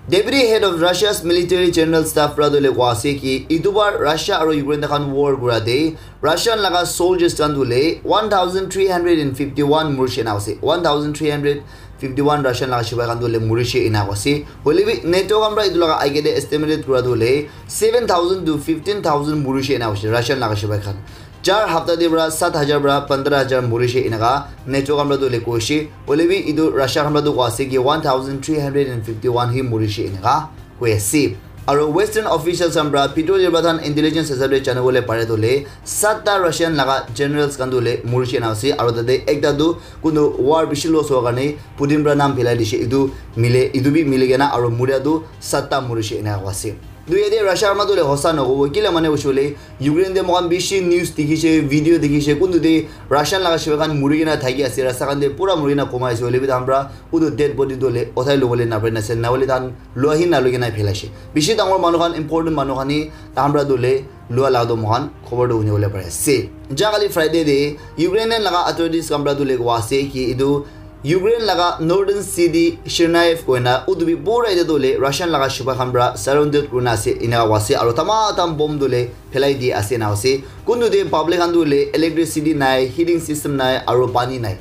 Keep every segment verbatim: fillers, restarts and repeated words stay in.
Deputy Head of Russia's Military General Staff para tu le koa ase ki itu bar Russia aro Ukraine ta khan war kura de Russian laga soldiers khan tu le one thousand three hundred and fifty one murishe ena ase. One thousand three hundred fifty one Russian laga shipai khan tu le murishe ena ase. Hoile bi NATO khan para itu laga aige de estimated kura tu le seven thousand to fifteen thousand murishe ena ase Russian laga shipai khan. Char hapta de para sat hajar para pandra hajar murishe enaka NATO khan para tu le koishe. Hoile bi itu Russia khan para tu koa ase ki one thousand three hundred and fifty one hi murishe enaka koi ase. Aro Western officials khan para Peter Yerbathan intelligence hisab de jana bole pare tu le satta Russian laga generals khan tu le murishe ena ase. Aro tate ekta tu kuntu war bishi loss howa karne Putin para naam phelai dishe. Itu mile, itu bi mili kena aro muria tu satta murishe ena koa ase. Tu yate Russia khan para tu le hosa nakobo. Kila mane hoishe hoile Ukraine te moikhan bishi news dikhishe, video dikhishe, kuntu te Russian laga shipai khan muri kena thaki ase, rasta khan te pura muri kena komai ase, hoile bi tahan para utu dead body tu le uthai lobole napare na ase, na hoile tahan lua hi naloi kena phelaishe. Bishi dangor manu khan, important manu khan hi tahan para tu le lua laga tu moikhan khobor tu huni bole pari ase. Ja kali Friday te Ukrainian laga authorities khan para tu le koa ase ki itu Ukraine laga northern city Chernihiv koina utu bi pura ite tu le Russian laga shipai khan para surrounded kurina ase, ena koa ase, aro tama tam bomb tu le phelai di ase ena ase. Kuntu te public khan tu le electricity nai, heating system nai, aro pani nai.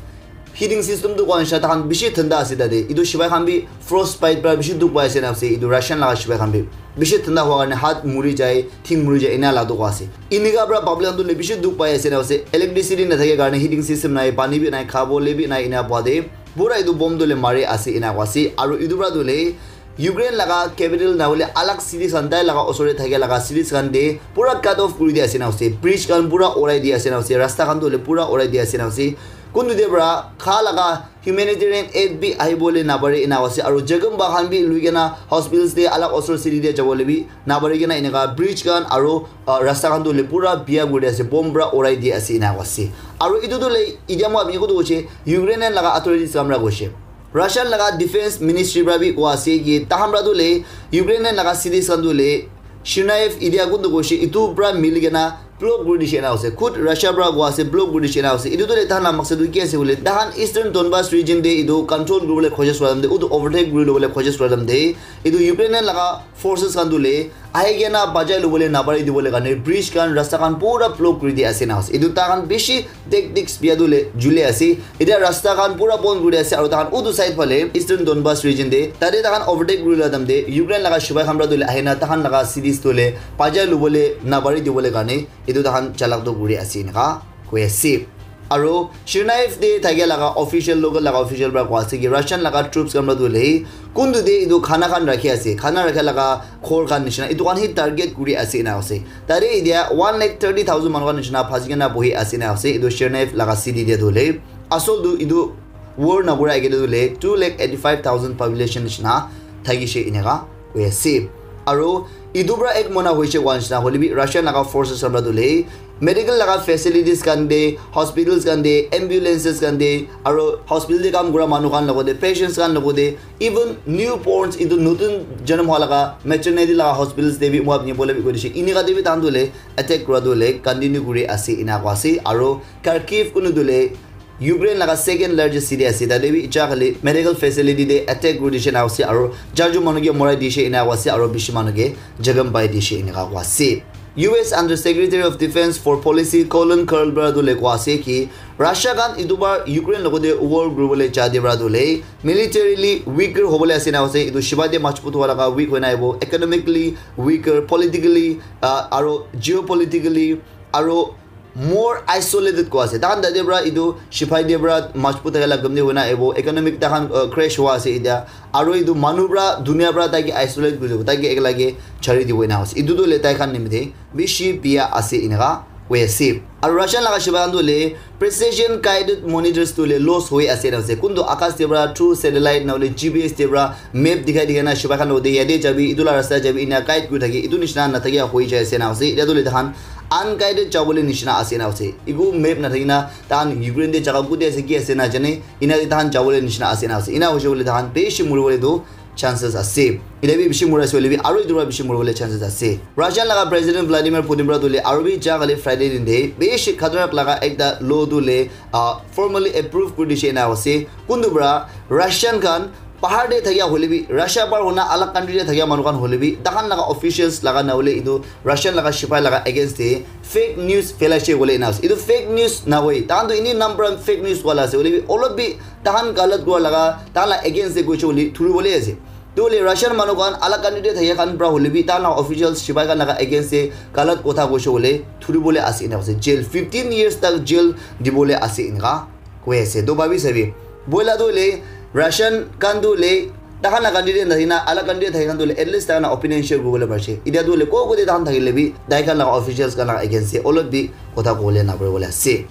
Heating system tu koa nisha tahan bishi thanda ase tate. Itu shipai khan bi frostbite para bishi dukh pai ase ena ase. Itu Russian laga shipai khan bi bishi thanda howa karne hat muri jai, thing muri jai, ena la dukh ase. Inika para public khan tu le bishi dukh pai ase ena ase. Electricity na thake karne heating system nai, pani bi nai, khabo le bi nai, ena pua de. Pura itu bomb tu le mari ase ena koa ase. Aro itu para tu le Ukraine laga capital na hoile alag cities khan tai laga osor te thake laga cities khan te pura cut off kuri di ase ena ase. Bridge khan pura urai di ase ena ase. Rasta khan tu le pura urai di ase ena ase. Kuntu te para kha laga humanitarian aid bi ahi bole napare ena ase. Aro jaga ba khan bi lui kena hospitals te alag osor city te jabo le bi napare kena eneka bridge khan aro, ah, rasta khan tu le pura bia kuri di ase. Bomb para urai di ase ena ase. Aro itu tu le itia moi apni ko tu hoise Ukrainian laga authorities khan para hoise. Russian laga defense ministry para bi koa ase ki tahan para tu le Ukrainian laga cities khan tu le Chernihiv itia kuntu koishe itu para mili kena block kuri dishe ena ase. Khud Russia para koa ase block kuri dishe ena ase. Itu tu le tahan la maksad tu ki ase bole tahan Eastern Donbas region te itu control kuri bole khojis kura time te, utu overtake kuri lobole khojis kura time te itu Ukrainian laga forces khan tu le ahi kena bajai lobole napari dibole karne bridge khan, rasta khan pura block kuri di ase ena ase. Itu tahan bishi tactics bia tu le jule ase. Itia rasta khan pura bon kuri ase aro tahan utu side phale Eastern Donbas region te tate tahan overtake kuri la time te Ukraine laga shipai khan para tu le ahina tahan laga cities tu le bajai lobole napari dibole karne itu tahan chalak tu kuri ase eneka koi ase. Aro Chernihiv te thakia laga official, local laga official para koa ase ki Russian laga troops khan para tu le kuntu te itu khana khan rakhi ase, khana rakha laga ghor khan nishina itu khan hi target kuri ase ena ase. Tate itia one lakh thirty thousand manu khan nishina phasi kena bohi ase ena ase. Itu Chernihiv laga city te tu le asol tu itu war na kura age tu le two lakh eighty five thousand population nishina thakishe eneka koi ase. Aro itu para ek mona hoishe koa nishina hoile bi Russian laga forces khan para tu le medical laga facilities khan te, hospitals khan te, ambulances khan te, aro hospital te kam kura manu khan logote, patients khan logote, even newborns, itu nutun janam hoa laga maternity laga hospitals te bi moi apni bole bi koi dishe. Inika te bi tahan tu le attack kura tu le continue kuri ase ena koa ase. Aro Kharkiv kunu tu le Ukraine laga second largest city ase, tate bi itia khali medical facility te attack kuri dishe ena ase, aro jarju manu ke morai dishe ena ase, aro bishi manu ke jakham pai dishe ena ase. U S Under Secretary of Defense for Policy Colin Kahl para tu le koa ase ki Russia khan itu bar Ukraine logote war kuribole ja de para tu le militarily weaker hobole ase ena ase, itu shibai te majbut howa laga weak hoina ahibo, economically weaker, politically, uh, aro geopolitically, aro more isolated koa ase. Tahan tate para itu shipai te para majbut thaka la gam te hoina ahibo, economic tahan, uh, crash howa ase itia. Aro itu manu para dunia para taike isolate kuri dibo, taike ekla ke chari dibo ena ase. Itu tu le tai khan nimite bishi bia ase eneka koi ase. Aro Russian laga shipai khan tu le precision guided monitors tu le loss hoi ase ena ase. Kuntu akas te para through satellite na hoile G P S te para map dikhai dikhai na shipai khan logote yate jabi, itu la rasta jabi ena guide kuri thaki, itu nishina na thaki hoi jai ase ena ase. Itia tu le tahan unguided jabole nishina ase ena ase. Iku map na thaki na tahan Ukraine te jaga kute ase, ki ase na jane, ena te tahan jabole nishina ase ena ase. Ena hoishe bole tahan bishi muribole tu chances ase. Itia bi bishi muri ase hoile bi aro itu para bishi muribole chances ase. Russian laga President Vladimir Putin para tu le aro bi ja kali Friday din te bishi khatarak laga ekta law tu le, ah, formally approve kuri dishe ena ase. Kuntu para Russian khan Bahar te thakia hoile bi, Russia par hona alag country te thakia manu khan hoile bi, tahan laga officials laga na hoile etu Russian laga sipai laga against te fake news phelai she koile ena ase. Etu fake news na hoi, tahan tu ini number fake news wala ase. Hoile bi olop bi tahan galat kua laga, tahan la against te koiche hoile thuri bole ase. Tu hoile Russian manu khan alag country te thakia khan pra hoile bi, tahan la officials sipai khan laga against te galat kotha koiche hoile thuri bole ase ena ase. Jail, fifteen years tak jail di bole ase enka koi ase. To bhabi sabi. Boila tu hoile Russian khan tu hoile tahan la country te nahi na, alag country te thaki khan tu hoile at least tahan la opinion share kuribole parise. Itia tu hoile ko ko te tahan thakile bi, tai khan la officials khan la against te olop bi kotha kole na pare bole ase.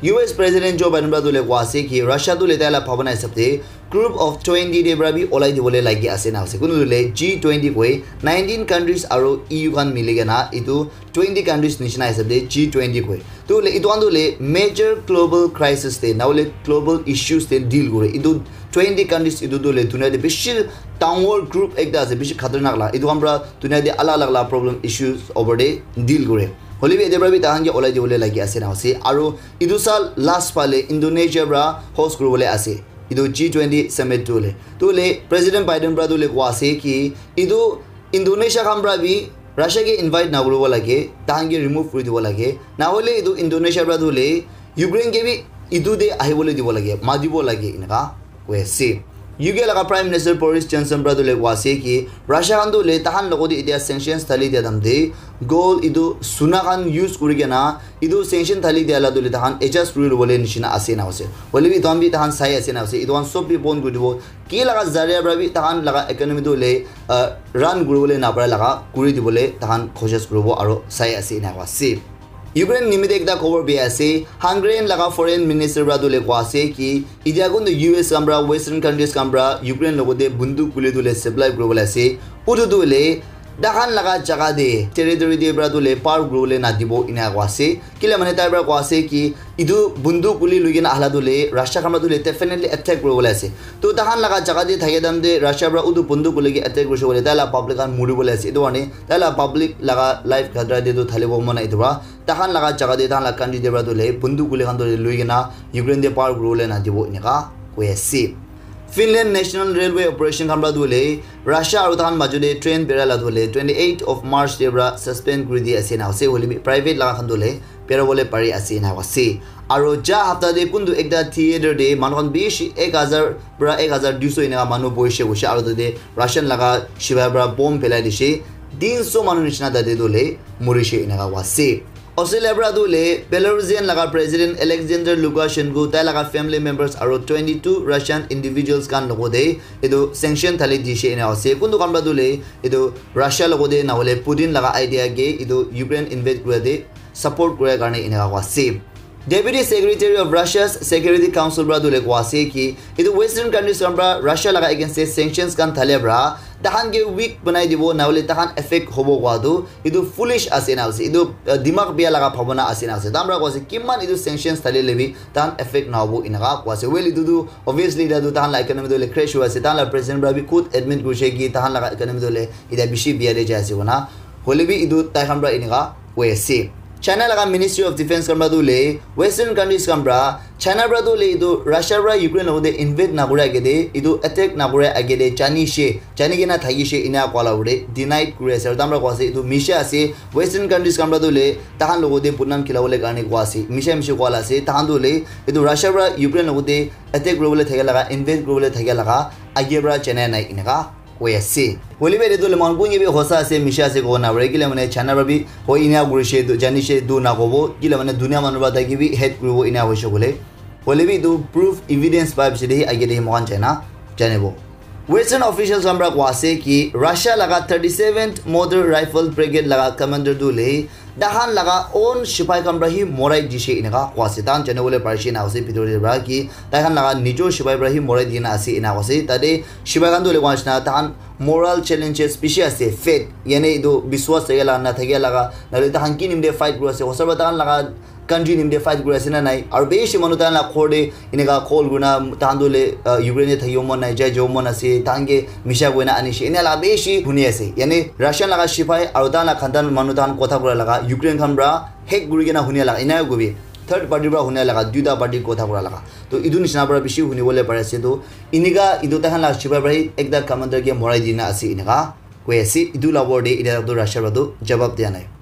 U S President Joe Biden pra tu hoile koi ase ki Russia tu hoile tai la bhabana hisab te group of twenty te pra bi olai dibole lagi ase na ase. Kunu tu hoile G twenty koi nineteen countries aro E U khan mili kena etu twenty countries nishina hisab te G twenty koi. Tu hoile etu khan tu hoile major global crisis te na hoile global issues te deal kore. Etu twenty countries etu tu hoile dunia te bishi dangor group ekta ase, bishi khatarnak la. Etu khan pra dunia te alag alag la problem issues over te deal kore. Hoile bi ete pra bi tahan ke olai dibole lagi ase na ase. Aro etu sal last phale Indonesia pra host kuribole ase etu G twenty summit tu hoile. Tu hoile President Biden pra tu hoile koi ase ki etu Indonesia khan pra bi Russia ke invite na kuribo lage, tahan ke remove kuri dibo lage. Na hoile etu Indonesia pra tu hoile Ukraine ke bi etu te ahibole dibo lage, matibo lage eneka koi ase. U K laga Prime Minister Boris Johnson pra tu hoile koi ase ki Russia khan tu hoile tahan logot te itia sanctions thali dia time te gold etu suna khan use kuri kena etu sanction thali dia la tu hoile tahan adjust kuri lobole nishina ase na ase. Hoile bi etu khan bi tahan sai ase na ase. Etu khan sob bi bon kuri dibo. Ki laga zaria pra bi tahan laga economy tu hoile, uh, run kuribole na para laga kuri dibole tahan koshish kuribo aro sai ase na ase. Ukraine nimite ekta khobor bi ase. Hungarian laga foreign minister pra tu hoile koi ase ki itia kun tu U S khan pra, Western countries khan pra Ukraine logot te bunduk guli tu hoile supply kuribole ase. Utu tu hoile tahan laga jaga te, territory te pra tu hoile par kuribole na dibo ena koi ase. Kile mane tai pra koi ase ki etu bunduk guli lui kena ahla tu hoile Russia khan pra tu hoile definitely attack kuribole ase. To tahan laga jaga te thakia time te Russia pra utu bunduk guli ke attack kurise koile tai la public khan muribole ase. Etu karne tai la public laga life khatra te tu thalibo mon nai etu pra. Tahan laga jaga te, tahan la country te pra tu hoile bunduk guli khan tu hoile lui kena Ukraine te par kuribole na dibo eneka koi ase. Finland National Railway Operation khan pra tu hoile Russia aro tahan majo te train bera la tu hoile twenty eight of March te pra suspend kuri di ase na ase. Hoile bi private laga khan tu hoile bera bole pari ase na ase. Aro ja hapta te kuntu ekta theater te manu khan bishi ek hazar pra ek hazar dui so eneka manu boishe hoishe aro tate Russian laga sipai pra bomb phelai dishe. Tin so manu nishina tate tu hoile murishe eneka koi ase. Australia pra tu hoile Belarusian laga President Alexander Lukashenko, tai laga family members aro twenty two Russian individuals khan logote etu sanction thali dishe ena ase. Kuntu khan pra tu hoile etu Russia logote na hoile Putin laga idea ke etu Ukraine invade kura te support kura karne eneka koi ase. Deputy Secretary of Russia's Security Council pra tu hoile koi ase ki etu Western countries khan pra Russia laga against te sanctions khan thale pra tahan ke weak banai dibo na hoile tahan effect hobo koi tu etu foolish ase na ase. Etu, uh, dimag bia laga bhabana ase na ase. Tahan pra koi ase kiman etu sanctions thali le bi tahan effect na hobo eneka koi ase. Well, etu tu obviously etu tu tahan la economy tu hoile crash hoi ase. Tahan la president pra bi khud admit kurise ki tahan laga economy tu hoile etia bishi bia te jai ase kona. Hoile bi etu tai khan pra eneka koi ase. China laga Ministry of Defense khan pra tu hoile Western countries khan pra China pra tu hoile etu Russia pra Ukraine logote invade na kura age te etu attack na kura age te jani she, jani kena thaki she ena koi la hoile denied kuri ase. Aru tahan pra koi ase etu misha ase. Western countries khan pra tu hoile tahan logote budnam khila bole karne koi ase. Misha misha koi la ase. Tahan tu hoile etu Russia pra Ukraine logote attack kuribole thakia laga, invade kuribole thakia laga age pra janai nai eneka koi ase. Hoile bi etu le mon kunye bi hosa ase, misha ase kobo na pare. Kile mane China pra bi hoi ena kurishe tu, janishe tu na kobo. Kile mane dunia manu pra tai ke bi hate kuribo ena hoishe koile. Hoile bi etu proof evidence pai piche te hi age te hi moikhan jai na janibo. Western officials khan pra koi ase ki Russia laga thirty seventh Motor Rifle Brigade laga commander tu hoile tahan laga own sipai khan pra hi morai dishe eneka koi ase. Tahan jane bole parishe na ase bhitor te pra ki tai khan laga nijor sipai pra hi morai dina ase ena koi ase. Tate sipai khan tu hoile koi ase na tahan moral challenges bishi ase. Faith, yane etu biswas thakia laga, na thakia laga, na hoile tahan ki nimite fight kuri ase, hosa pra tahan laga country nimite fight kuri ase na nai. Aru bishi manu tahan la ghor te eneka call kurina tahan tu hoile, uh, Ukraine te thakibo mon nai, jai jabo mon ase, tahan ke misha koina anishe, ena la bishi huni ase. Yane Russian laga sipai aru tahan la khandan manu tahan kotha kura laga Ukraine khan pra hack kuri kena huni laga ena kobi. third party para huna laga, duita party kotha kura laga. To etu nishina para bishi huni bole pare ase. To inika etu tahan la shiba para ekta commander ke morai dina ase inika koi ase. Etu la word de ida to Russia para to jawab dia nai.